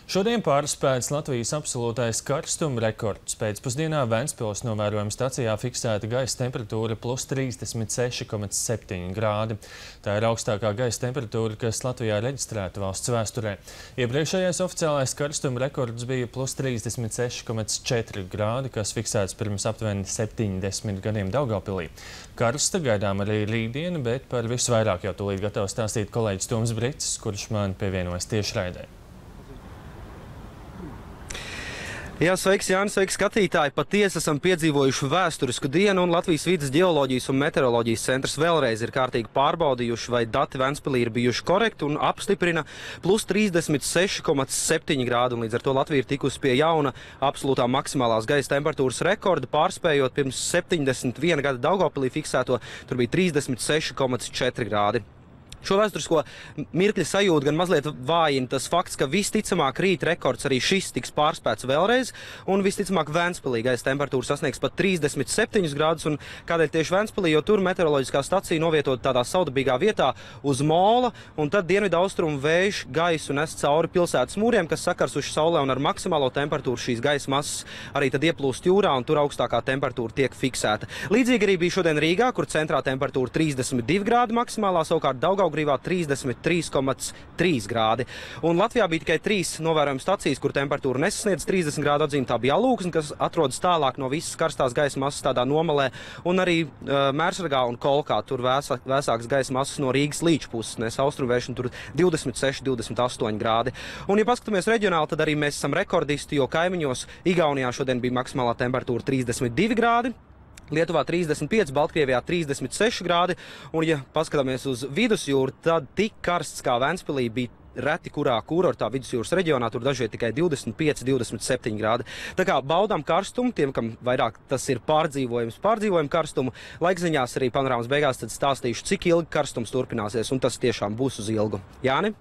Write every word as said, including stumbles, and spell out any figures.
Šodien pārspēts Latvijas absolūtais karstuma rekords. Pēcpusdienā Ventspils novērojuma stacijā fiksēta gaisa temperatūra plus trīsdesmit seši komats septiņi grādi. Tā ir augstākā gaisa temperatūra, kas Latvijā reģistrēta valsts vēsturē. Iepriekšējais oficiālais karstuma rekords bija plus trīsdesmit seši komats četri grādi, kas fiksēts pirms aptuveni septiņdesmit gadiem Daugavpilī. Karsta gaidām arī rītdiena, bet par visu vairāk jau tūlīt gatavs stāstīt kolēģis Toms Bricis, kurš man pievienojas tiešraidē. Jā, sveiks, Jānis, sveiks, skatītāji! Patiesi esam piedzīvojuši vēsturisku dienu, un Latvijas vides ģeoloģijas un meteoroloģijas centrs vēlreiz ir kārtīgi pārbaudījuši, vai dati Ventspilī ir bijuši korekti, un apstiprina plus trīsdesmit seši komats septiņi grādi, un līdz ar to Latvija ir tikusi pie jauna absolūtā maksimālās gaisa temperatūras rekorda, pārspējot pirms septiņdesmit viena gada Daugavpilī fiksēto, tur bija trīsdesmit seši komats četri grādi. Šo vēsturisko mirkļa sajūtu gan mazliet vājina tas fakts, ka visticamāk rīt rekords arī šis tiks pārspēts vēlreiz, un visticamāk Ventspilī gaisa temperatūra sasniegs pat trīsdesmit septiņus grādus, un kādēļ tieši Ventspilī, jo tur meteoroloģiskā stacija novietot tādā saudabīgā vietā uz mola, un tad dienvidu austrumu vējš gaisu nes cauri pilsētas mūriem, kas sakars uz saulē, un ar maksimālo temperatūru šīs gaisa masas arī tad ieplūst jūrā, un tur augstākā temperatūra tiek fiksēta. Līdzīgi arī bija šodien Rīgā, kur centrā temperatūra trīsdesmit divi grādi maksimālā, savukārt Daugavgrīvā trīsdesmit trīs komats trīs grādi. Un Latvijā bija tikai trīs novērojuma stacijas, kur temperatūra nesasniedz trīsdesmit grādu atzīme. Tā bija Alūksne, kas atrodas tālāk no visas karstās gaisa masas tādā nomalē, un arī uh, Mērsragā un Kolkā, tur vēsā, vēsāks gaisa masas no Rīgas līča puses, nes austrumvējš, un tur divdesmit seši, divdesmit astoņi grādi. Un, ja paskatāmies reģionāli, tad arī mēs esam rekordisti, jo kaimiņos Igaunijā šodien bija maksimālā temperatūra trīsdesmit divi grādi. Lietuvā trīsdesmit pieci, Baltkrievijā trīsdesmit seši grādi, un, ja paskatāmies uz vidusjūru, tad tik karsts kā Ventspilī bija reti kurā kurortā vidusjūras reģionā, tur dažviet tikai divdesmit pieci, divdesmit septiņi grādi. Tā kā baudām karstumu, tiem, kam vairāk tas ir pārdzīvojums, pārdzīvojam karstumu, laikziņās arī panorāmas beigās tad stāstīšu, cik ilgi karstums turpināsies, un tas tiešām būs uz ilgu. Jāni?